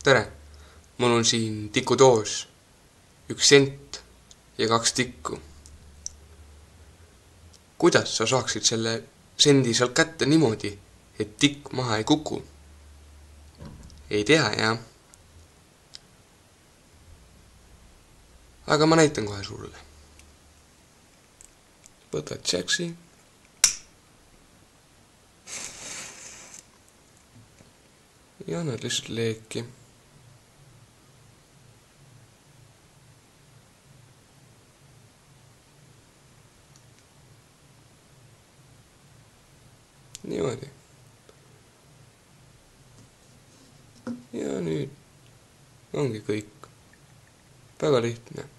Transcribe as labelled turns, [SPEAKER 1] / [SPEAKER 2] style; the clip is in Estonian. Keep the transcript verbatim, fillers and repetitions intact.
[SPEAKER 1] tere, mul on siin tikudoos, üks sent ja kaks tikku. Kuidas sa saaksid selle sendi sealt kätte niimoodi, et tikk maha ei kuku? Ei tea, jah? Aga ma näitan kohe sulle. Võtad tšeksi. Ja annad lihtsalt leeki. Niimoodi. Ja nüüd ongi kõik. Väga lihtne.